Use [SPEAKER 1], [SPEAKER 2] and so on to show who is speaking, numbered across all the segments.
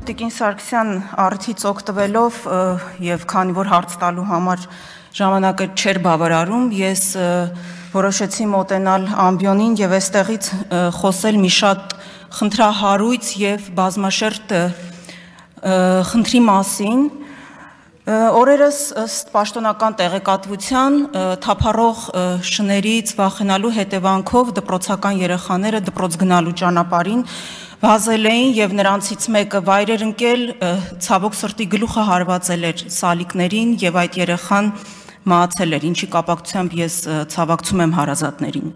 [SPEAKER 1] Տիկին Սարգսյան առիթից օգտվելով եւ քանի որ հարց տալու համար ժամանակը չէր բավարարում, ես որոշեցի մոտենալ ամբիոնին եւ այստեղից խոսել մի շատ խնդրահարույց եւ բազմաշերտ խնդրի մասին։ Օրերս ըստ պաշտոնական տեղեկատվության թափառող շներից վախենալու հետևանքով դպրոցական երեխաները դպրոց գնալու ճանապարհին վազել էին եւ նրանցից մեկը վայրեր ընկել, ցավոք սրտի գլուխը հարվածել էր սալիկներին եւ այդ երեխան մահացել էր, ինչի կապակցությամբ ես ցավակցում եմ հարազատներին։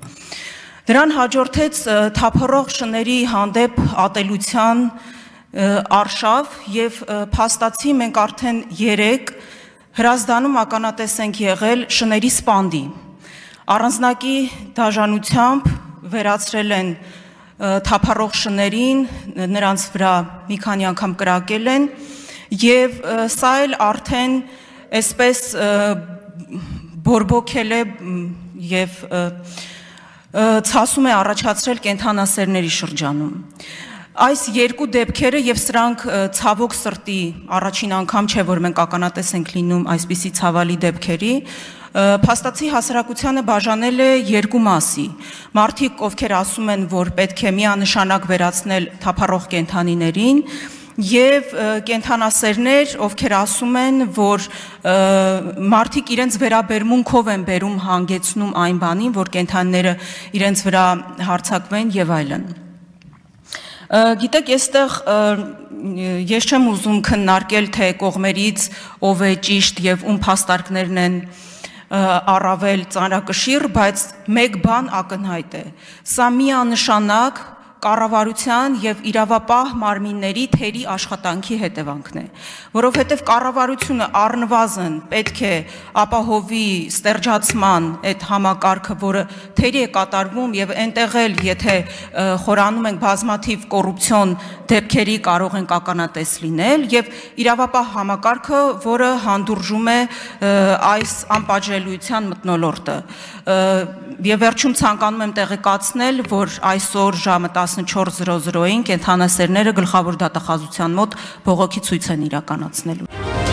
[SPEAKER 1] Դրան հաջորդեց թափառող շների հանդեպ ատելության արշավ եւ փաստացի մենք արդեն 3 հրազդանում ականատես ենք եղել շների սպանդի։ Առանձնակի դաժանությամբ վերացրել են թափառող շներին, նրանց վրա մի քանի անգամ կրակել են եւ սա էլ արդեն այսպես բորբոքել է եւ ցասում է առաջացրել կենդանասերների շրջանում։ Այս երկու դեպքերը եւ սրանք ցավոք սրտի առաջին անգամ չէ, որ մենք ականատես ենք լինում այսպիսի ցավալի դեպքերի, փաստացի հասարակությանը բաժանել է երկու մասի։ Մարդիկ, ովքեր ասում են, որ պետք է միանշանակ վերացնել թափառող կենդանիներին, եւ կենդանասերներ, ովքեր ասում են, որ մարդիկ իրենց վերաբերմունքով են բերում հանգեցնում այն բանին, որ կենդանիները իրենց վրա հարձակվեն եւ այլն։ Գիտեք, այստեղ ես չեմ ուզում քննարկել, թե կողմերից ով է ճիշտ եւ ում փաստարկներն են առավել ծանրակշիռ, բայց մեկ բան ակնհայտ է։ Սա միանշանակ կառավարության եւ իրավապահ մարմինների թերի աշխատանքի հետևանքն է, որովհետեւ կառավարությունը առնվազն պետք է ապահովի ստերջացման այդ համակարգը, որը թերի է կատարվում եւ այնտեղ էլ եթե խորանում ենք բազմաթիվ կոռուպցիոն դեպքերի կարող ենք ականատես լինել եւ իրավապահ համակարգը, որը հանդուրժում է այս անպատժելիության մթնոլորտը։ Եվ վերջում ցանկանում եմ տեղեկացնել, որ այսօր ժամը 14:00-ին կենդանասերները գլխավոր դատախազության մոտ բողոքի ցույց են իրականացնելու։